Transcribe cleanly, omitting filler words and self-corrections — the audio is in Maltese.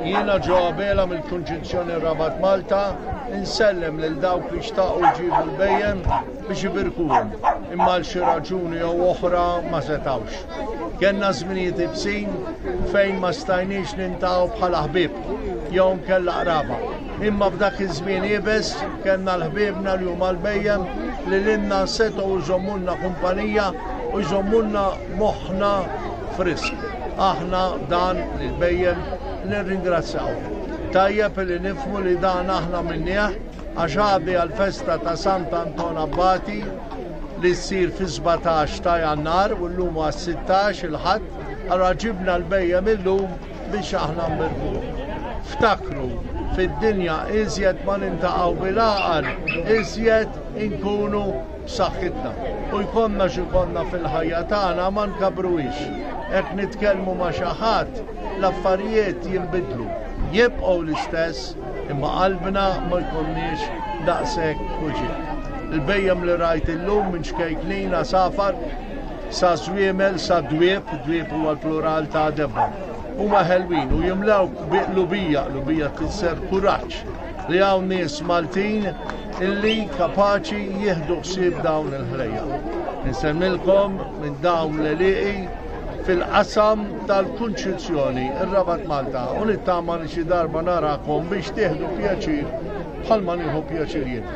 Jiena Joe Abela mill-Kunċizzjoni Rabat Malta insellem lil dawk li xtaqu jġibu l-bhejjem biex ibirkuhom, imma għal xi raġuni jew oħra ma setgħux. Kellna żminijiet ibsin fejn ma stajniex nintaqgħu bħala ħbieb jew nkella qraba. Imma f'dak iż-żmien iebes kellna l-ħbiebna li huma l-bhejjem li lilna setgħu jżommulna kumpanija u jżommulna moħħna frisk. Aħna dan lill-bhejjem nirringrazzjaw. Tajjeb li nifhmu li dan aħna minnieh għax għaddi għall-festa ta' Sant'Anton Abbati li ssir fis-17 ta' Jannar u llum huwa s-16 il-Ħadd, allura ġibna l-bhejjem illum biex aħna nbirkuhom. Ftakru, fid-dinja iżjed ma nintaqgħu bil-għaqal, iżjed inkunu b'saħħitna. U jkollna x'ikollna fil-ħajja tagħna ma nkabbruhiex. Hekk nitkellmu ma' xi ħadd, l-affarijiet jinbidlu. Jibqgħu l-istess imma qalbna ma jkollniex daqshekk uġigħ. Il-bhejjem li rajt illum minn ċkejknin għasafar sa żwiemel sa dwieb, dwieb huwa l-plural ta' debba. Huma ħelwin u jimlewk bi qlubija, qlubija tfisser kuraġġ li hawn nies Maltin illi kapaċi jieħdu ħsieb dawn il-ħlejjaq. Insemmilkom minn dawn l-għelieqi fil-qasam tal-Kunċizzjoni, ir-Rabat Malta, u nittama li xi darba narakom biex tieħdu pjaċir bħalma nieħu pjaċir jien.